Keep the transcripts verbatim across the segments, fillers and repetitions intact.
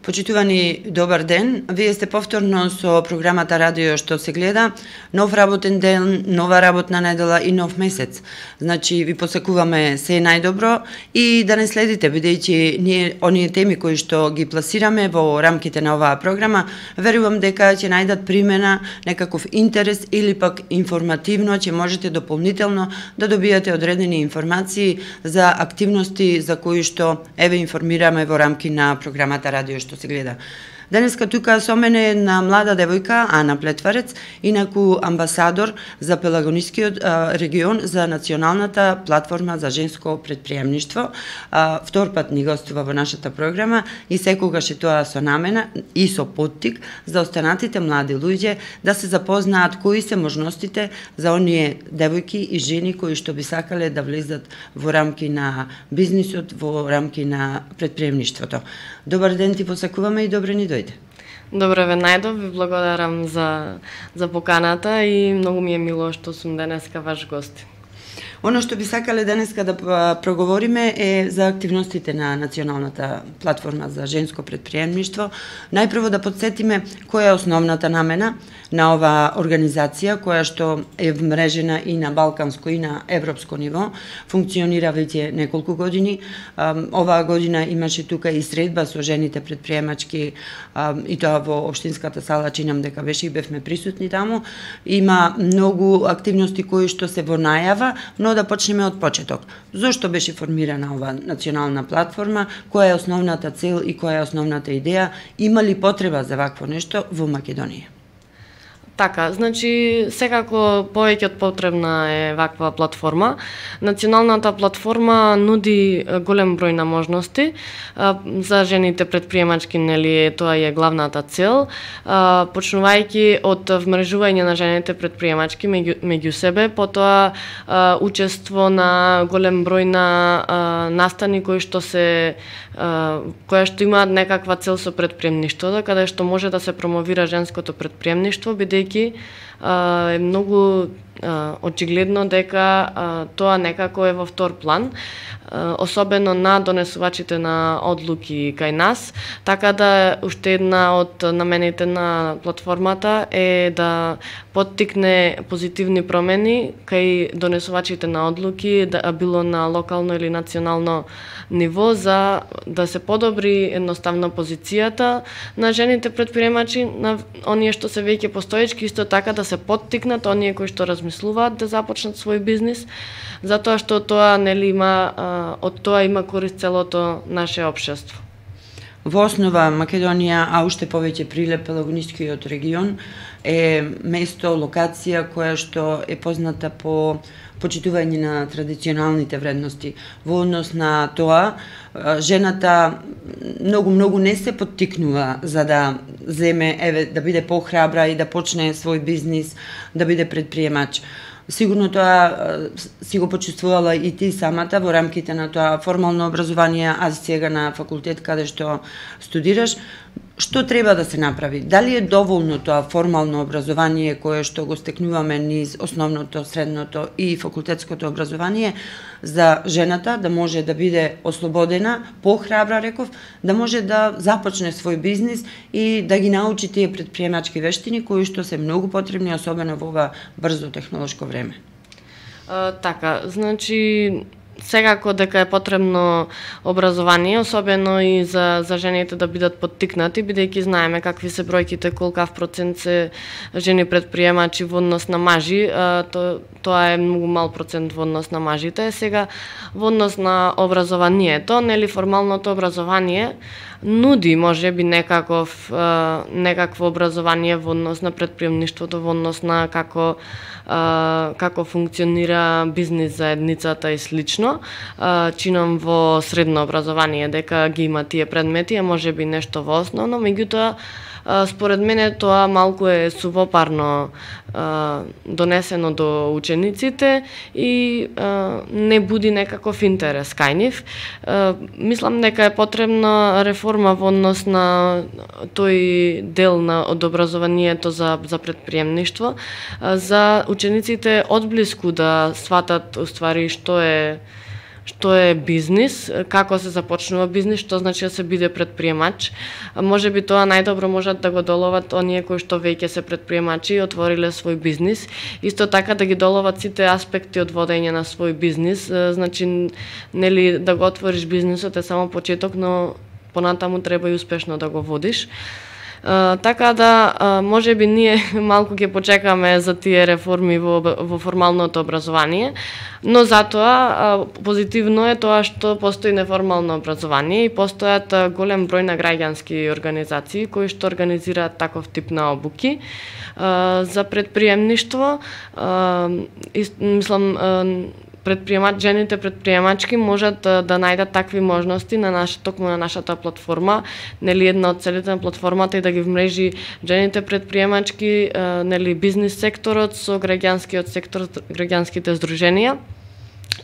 Почитувани, добар ден. Вие сте повторно со програмата Радио што се гледа. Нов работен ден, нова работна недела и нов месец. Значи, ви посакуваме се најдобро и да не следите, бидејќи ние оние теми кои што ги пласираме во рамките на оваа програма, верувам дека ќе најдат примена, некаков интерес или пак информативно, ќе можете дополнително да добијате одредени информации за активности за кои што еве информираме во рамки на програмата Радио што се гледа. Денеска тука со мене е една млада девојка, Ана Плетварец, инаку амбасадор за Пелагонискиот регион за Националната платформа за женско предприемништво. А, втор пат ни гостува во нашата програма и секогаш е тоа со намена и со поттик за останатите млади луѓе да се запознаат кои се можностите за оние девојки и жени кои што би сакале да влезат во рамки на бизнисот, во рамки на предприемништвото. Добар ден ти посакуваме и добре ни дојде. Добре ве најдов, ви благодарам за, за поканата и многу ми е мило што сум денеска ваш гост. Оно што би сакале денеска да проговориме е за активностите на Националната платформа за женско предприемништво. Најпрво да подсетиме која е основната намена на оваа организација, која што е вмрежена и на балканско и на европско ниво, функционира веќе неколку години. Оваа година имаше тука и средба со жените предприемачки и тоа во општинската сала, чинам дека беше и бевме присутни таму. Има многу активности кои што се во најава, но да почнеме од почеток. Зошто беше формирана оваа национална платформа, која е основната цел и која е основната идеја, има ли потреба за вакво нешто во Македонија? Така, значи, секако повеќе од потребна е ваква платформа. Националната платформа нуди голем број на можности за жените предприемачки, нели, тоа е главната цел, почнувајќи од вмрежување на жените предприемачки меѓу, меѓу себе, потоа учество на голем број на настани кои што се која што имаат некаква цел со предприемништвото, каде што може да се промовира женското предприемништво, бидејќи е многу очигледно дека тоа некако е во втор план, особено на донесувачите на одлуки кај нас, така да уште една од намените на платформата е да поттикне позитивни промени кај донесувачите на одлуки, да било на локално или национално ниво, за да се подобри едноставно позицијата на жените предприемачи, на оние што се веќе постоечки, исто така да се поттикнат оние кои што размислуваат да започнат свој бизнис, затоа што тоа нели има од тоа има корист целото наше општество. Во основа Македонија, а уште повеќе Прилеп, Пелагонискиот регион е место, локација која што е позната по почитување на традиционалните вредности. Во однос на тоа, жената многу многу не се поттикнува за да земе, еве, да биде похрабра и да почне свој бизнис, да биде предприемач. Сигурно тоа си го почувствувала и ти самата во рамките на тоа формално образование, а сега на факултет каде што студираш. Што треба да се направи? Дали е доволно тоа формално образование кое што го стекнуваме низ основното, средното и факултетското образование за жената да може да биде ослободена, похрабра, реков, да може да започне свој бизнис и да ги научи тие предприемачки вештини кои што се многу потребни, особено во ова брзо технолошко време? А, така, значи секако дека е потребно образование, особено и за, за жените да бидат поттикнати, бидејќи знаеме какви се бројките, колкав процент се жени предприемачи во однос на мажи, а, то, тоа е многу мал процент во однос на мажите. Сега, во однос на образованието, нели формалното образование нуди можеби некаков некакво образование во однос на предприемништвото, во однос на како како функционира бизнис заедницата и слично. Чинам во средно образование дека ги има тие предмети, а можеби нешто во основно, меѓутоа според мене тоа малку е сувопарно донесено до учениците и не буди некаков интерес кај нив. Мислам дека е потребна реформа во однос на тој дел на од образованието за за предприемништво, за учениците одблиску да сватат уствари што е што е бизнис, како се започнува бизнис, што значи да се биде предприемач. Може би тоа најдобро можат да го доловат оние кои што веќе се предприемачи и отвориле свој бизнис. Исто така да ги доловат сите аспекти од водење на свој бизнис. Значи, нели да го отвориш бизнисот е само почеток, но понатаму треба и успешно да го водиш. Uh, така да, uh, може би ние малку ќе почекаме за тие реформи во, во формалното образование, но затоа uh, позитивно е тоа што постои неформално образование и постојат uh, голем број на граѓански организации кои што организираат таков тип на обуки uh, за предприемништво. Uh, и, мислам, uh, предприемач, жените предприемачки можат да, да најдат такви можности на нашата, токму на нашата платформа, нели една од целите на платформата и да ги вмрежи жените предприемачки, нели бизнис секторот со граѓанскиот сектор, граѓанските здруженија.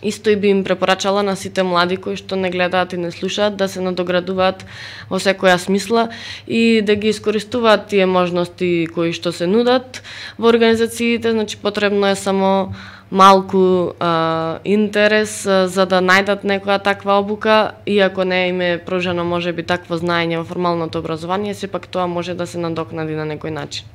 Исто и би им препорачала на сите млади кои што не гледаат и не слушаат да се надоградуваат во секоја смисла и да ги искористуваат тие можности кои што се нудат во организациите. Значи потребно е само малку а, интерес а, за да најдат некоја таква обука, иако не им е пружено може би такво знаење во формалното образование, сепак тоа може да се надокнади на некој начин.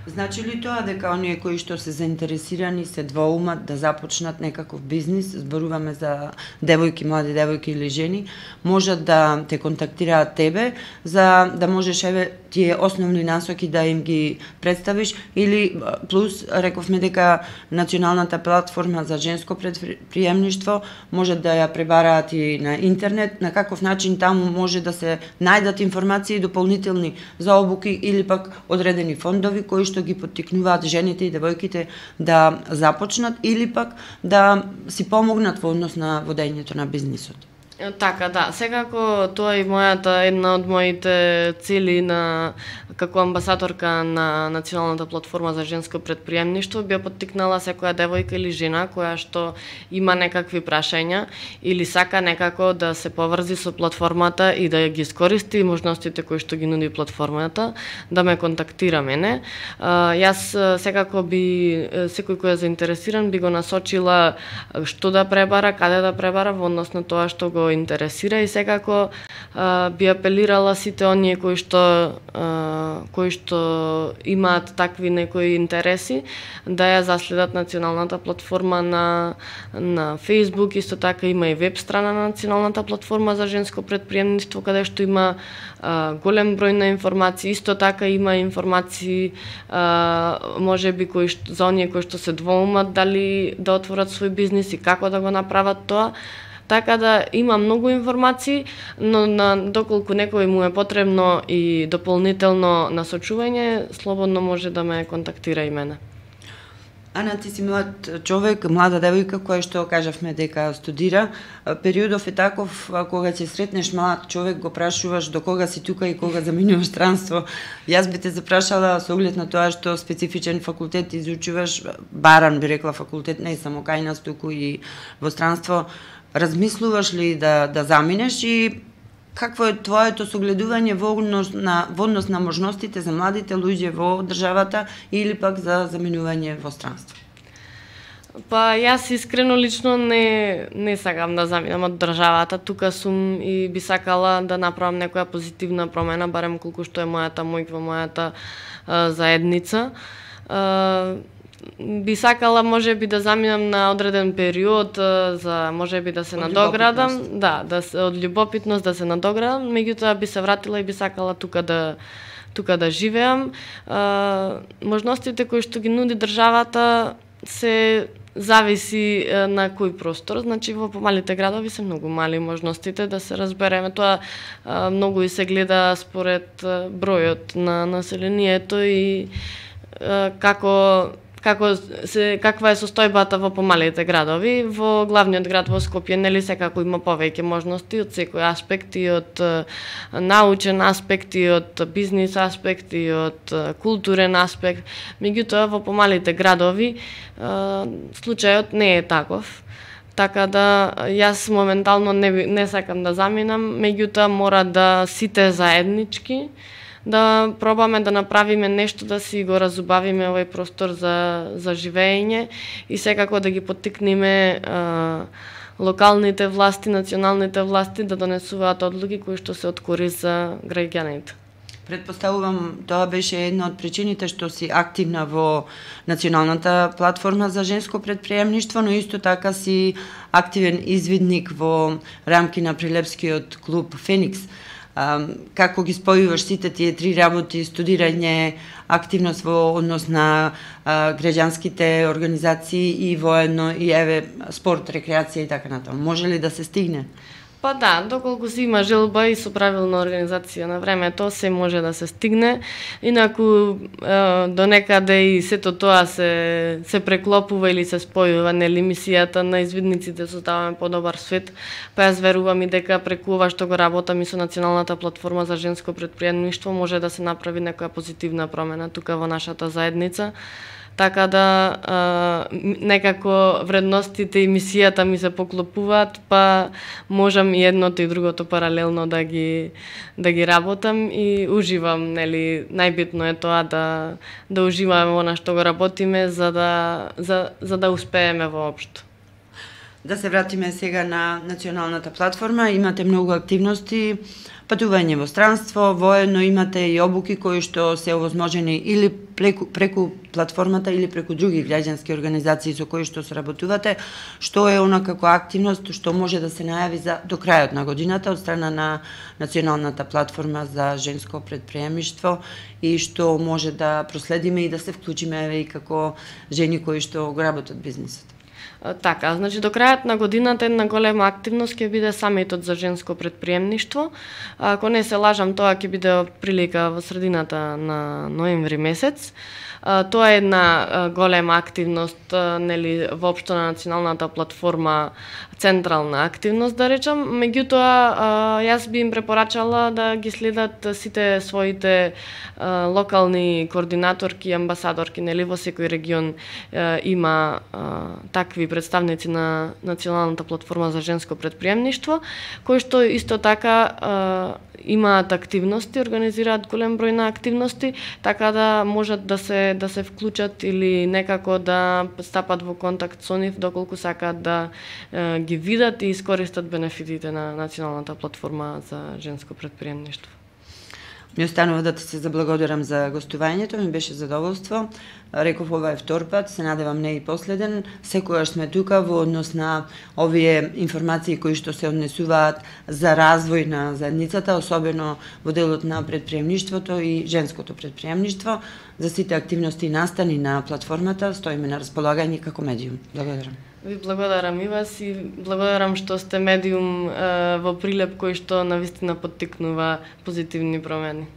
Значи ли тоа дека оние кои што се заинтересирани се двоумат да започнат некаков бизнис, зборуваме за девојки, млади девојки или жени, можат да те контактираат тебе за да можеш еве тие основни насоки да им ги представиш, или плюс рековме дека националната платформа за женско предприемништво можат да ја пребараат и на интернет, на каков начин таму може да се најдат информации дополнителни за обуки или пак одредени фондови кои што ги поттикнуваат жените и девојките да започнат или пак да си помогнат во однос на водењето на бизнисот. Така, да. Секако тоа е мојата една од моите цели на како амбасадорка на Националната платформа за женско предприемништво, би поттикнала секоја девојка или жена која што има некакви прашања или сака некако да се поврзи со платформата и да ги искористи можностите кои што ги нуди платформата, да ме контактира мене. Јас секако би секој кој е заинтересиран би го насочила што да пребара, каде да пребара во однос на тоа што го интересира, и секако а, би апелирала сите оние кои што а, кои што имаат такви некои интереси да ја заследат националната платформа на на Facebook. Исто така има и веб страна на Националната платформа за женско предприемништво каде што има а, голем број на информации. Исто така има информации а, можеби кои што, за оние кои што се двоумат дали да отворат свој бизнис и како да го направат тоа. Така да има многу информации, но на доколку некој му е потребно и дополнително насочување, слободно може да ме контактира и мене. Ана, ти си млад човек, млада девојка која што кажавме дека студира. Периодов е таков кога ќе сретнеш млад човек, го прашуваш до кога си тука и кога заминуваш странство. Јас би те запрашала со оглед на тоа што специфичен факултет изучуваш, баран би рекла факултет, не само кај нас туку и во странство. Размислуваш ли да да заминеш и какво е твоето согледување во однос на во однос на можностите за младите луѓе во државата или пак за заминување во странство? Па јас искрено лично не не сакам да заминам од државата, тука сум и би сакала да направам некоја позитивна промена, барем колку што е мојата мој во мојата а, заедница. А, би сакала можеби да заминам на одреден период за можеби да се од надоградам, да, да се од љубопитност да се надоградам, меѓутоа би се вратила и би сакала тука да тука да живеам. А, можностите кои што ги нуди државата се зависи на кој простор, значи во помалите градови се многу мали можностите, да се разбереме. Тоа а, многу и се гледа според бројот на населението и а, како како се каква е состојбата во помалите градови. Во главниот град во Скопје нели секако има повеќе можности од секој аспект, и од научен аспект, и од бизнис аспект, и од културен аспект. Меѓутоа во помалите градови случајот не е таков. Така да јас моментално не не сакам да заминам, меѓутоа мора да сите заеднички да пробаме да направиме нешто, да си го разубавиме овој простор за, за живење и секако да ги поттикнеме а, локалните власти, националните власти да донесуваат одлуки кои што се од корист за граѓаните. Предпоставувам, тоа беше една од причините што си активна во Националната платформа за женско предприемништво, но исто така си активен извидник во рамки на Прилепскиот клуб Феникс. А, како ги спојуваш сите тие три работи, студирање, активност во однос на а, граѓанските организации и воедно и еве спорт, рекреација и така натаму. Може ли да се стигне? Па да, доколку си има желба и со правилна организација на времето, се може да се стигне. Инаку е, до некаде и сето тоа се се преклопува или се спојува, нели мисијата на извидниците создаваме подобар свет. Па јас верувам и дека преку ова што го работам и со Националната платформа за женско предприемништво може да се направи некоја позитивна промена тука во нашата заедница. Така да а, некако вредностите и мисијата ми се поклопуваат, па можам и едното и другото паралелно да ги да ги работам и уживам, нели, најбитно е тоа да да уживаме во она што го работиме за да за за да успееме воопшто. Да се вратиме сега на Националната платформа, имате многу активности, патување во странство, воедно имате и обуки кои што се овозможени или преку, преку платформата или преку други граѓански организации со кои што соработувате, што е она како активност што може да се најави за до крајот на годината од страна на Националната платформа за женско предприемништво и што може да проследиме и да се вклучиме еве и како жени кои што го работат бизнисот. Така, значи до крајот на годината една голема активност ќе биде самитот за женско предприемништво. Ако не се лажам, тоа ќе биде прилика во средината на ноември месец. Тоа е една голема активност, нели, воопшто на Националната платформа, централна активност, да речам. Меѓутоа, јас би им препорачала да ги следат сите своите локални координаторки и амбасадорки, нели, во секој регион има такви представници на Националната платформа за женско предприемништво, кои што исто така имаат активности, организираат голем број на активности, така да можат да се да се вклучат или некако да стапат во контакт со нив доколку сакаат да е, ги видат и искористат бенефитите на Националната платформа за женско предприемништво. Ми останува да ти се заблагодарам за гостувањето, ми беше задоволство. Реков, ова е втор пат, се надевам не и последен. Секојаш сме тука во однос на овие информации кои што се однесуваат за развој на заедницата, особено во делот на предприемништвото и женското предприемништво. За сите активности и настани на платформата стоиме на располагање како медиум. Благодарам. Ви благодарам и вас и благодарам што сте медиум е, во Прилеп кој што навистина поттикнува позитивни промени.